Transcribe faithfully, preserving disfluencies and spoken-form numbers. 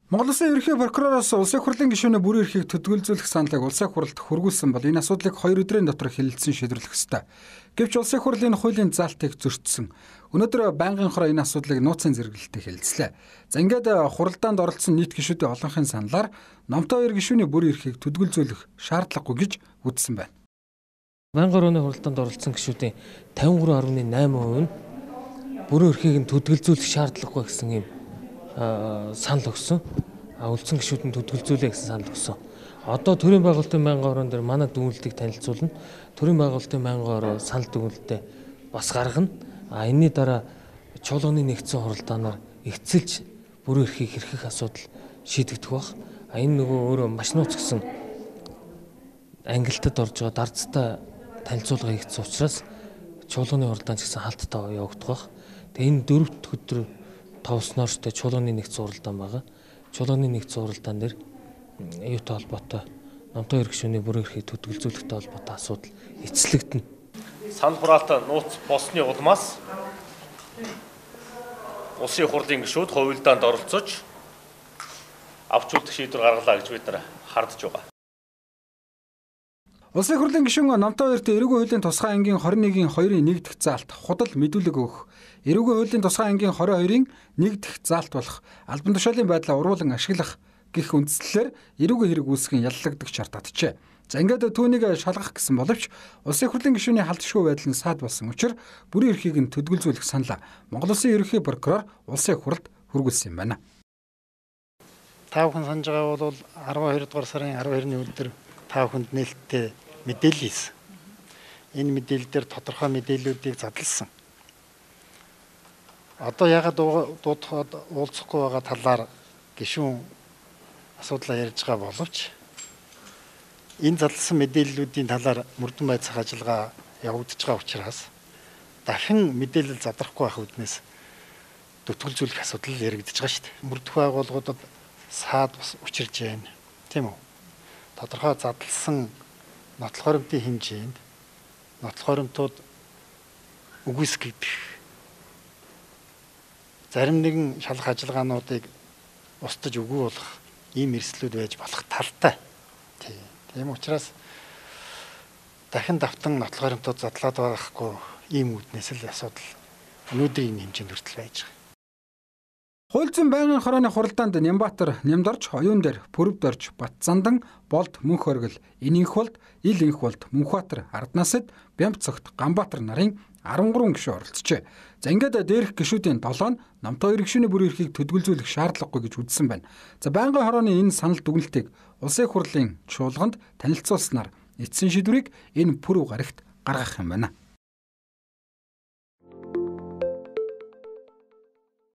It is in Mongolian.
Монгол Улсын ерөнхий прокуророос улсын хурлын гишүүний бүрэн эрхийг төдгөлзүүлэх саналыг улсын хурлд хүргүүлсэн бол энэ асуудлыг хоёр өдрийн дотор хэлэлцэн шийдвэрлэх ёстой. Гэвч улсын хурлын хуулийн заалтыг зөрчсөн. Өнөөдөр байнгын хороо энэ асуудлыг нууцын зэрэглэлтэд хэлэлцлээ. За ингээд хуралдаанд оролцсон нийт гишүүдийн олонхын саналаар номтой хоёр гишүүний бүрэн эрхийг төдгөлзүүлэх шаардлагагүй гэж үзсэн байна. Байнгын хорооны хуралдаанд оролцсон гишүүдийн тавин гурван гаруй найман хувь нь бүрэн эрхийг нь төдгөлзүүлэх шаардлагагүй гэсэн юм санал өгсөн. А үлдсэн гишүүдэн төдгөлзүүлээ гэсэн санал өгсөн. Одоо төрийн байгуулалтын байнгын хорон дээр манай дүгнэлтийг танилцуулна. Төрийн байгуулалтын байнгын хороо санал дүгнэлтээ бас гаргана. А энэний дараа чуулганы нэгдсэн хуралдаанаар эцэлж бүрэн эрхийг хэрхэх асуудал шийдэгдэх баг. А энэ нөгөө өөрөө маш нууц гэсэн ангилтад орж байгаа дардтай танилцуулга хийгдсэн учраас чуулганы хуралдаан ч гэсэн хаалттай явагдах баг. Тэгээ энэ дөрөвт өдөр тавсноор ч чуулганы нэгдсэн хуралдаан байгаа. Чуулганы нэгдсэн хуралдаан дээр юутай холбоотой номтой хоёр гишүүний бүрэн эрхийг төдгөлзүүлэхтэй холбоотой асуудал эцэлэгдэнэ. Санал хураалт нууц болсны улмаас улсын хурлын гишүүд хувилдаанд оролцож авч үлдэх шийдвэр гаргалаа гэж бид нар хардж байгаа. Улсын хурлын гишүүн номтой хоёрт эрүүгийн хуулийн тусгай ангийн хорин нэгin хоёрын нэг дахь заалт худал мэдүүлэг өгөх, эрүүгийн хуулийн тусгай ангийн хорин хоёрын нэг дахь заалт болох албан тушаалын байдлаа уруулан ашиглах гэх үндслэлээр эрүүгийн хэрэг үүсгэн яллагдах шаардлагатай. За ингээд түүнийг шалгах гэсэн боловч улсын хурлын гишүүний халдшгүй байдал нь саад болсон учраас бүрэн эрхийг нь төдгөлзүүлэх саналаа Монгол Улсын ерөнхий прокурор улсын хурлд хүргүүлсэн юм байна. Та бүхэн санаж байгаа бол арван хоёр дугаар сарын арван хоёрны өдөр та бүхэнд нээлттэй мэдээлэл хийсэн. Энэ мэдээлэл дээр тодорхой мэдээллүүдийг задлсан. Одоо ягаад дуудахад уулзахгүй байгаа талаар гишүүн асуудлаа ярьж байгаа боловч энэ задлсан мэдээллүүдийн талаар мөрдөн байцаах ажиллагаа явагдаж байгаа учраас дахин мэдээлэл задрахгүй байх үднээс төтгөлзүүлэх асуудал яригдаж байгаа шүү дээ. Мөрдөх байгууллагуудад саад бас учирж байна. Тийм үү? Тодорхой задлсан нотлох хоримтын хэмжээнд нотлох хоримтууд үгүйсгэгдэх зарим нэгэн шалгах ажиллагаануудыг устж үгүй болох ийм эрсдлүүд байж болох талтай. Тийм учраас дахин давтан нотлох хоримтууд задлаад байхгүй ийм үүднээс л асуудал өнөөдрийн хэмжээнд хүртэл байж байгаа. Хууль зүйн байнгын хорооны хуралдаанд Нямбатар, Нямдорч, Оюун дээр, Пүрэвдорч, Батзандан, Болд, Мөнх оргил, Инэнх болд, Ил инх болд, Мөнхбаатар, Арднасад, Бямбцогт, Ганбаатар нарын арван гурван гишүүн оролцжээ. За ингээд дээрх гишүүдийн долоо нь номтой хоёр гишүүний бүрэн эрхийг төдгөлзүүлэх шаардлагагүй гэж үзсэн байна. За байнгын хорооны энэ санал дүгнэлтийг улсын хурлын чуулганд танилцуулснаар эцсийн шийдвэрийг энэ пүрэв гарагт гаргах юм байна.